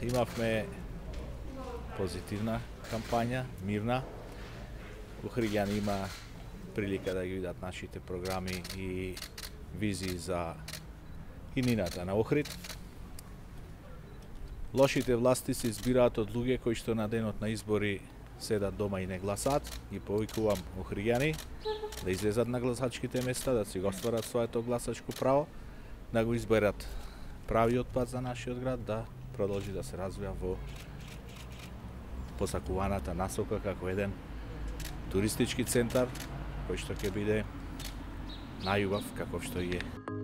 Имавме позитивна кампања, мирна. Охриѓани има прилика да ги видат нашите програми и визии за иднината на Охрид. Лошите власти се избираат од луѓе кои што на денот на избори седат дома и не гласаат. Ги повикувам охриѓани да излезат на гласачките места, да си го остварат своето гласачко право, да го изберат правиот пат за нашиот град, да продолжи да се развива во посакуваната насока како еден туристички центар кој што ќе биде најубав каков што и е.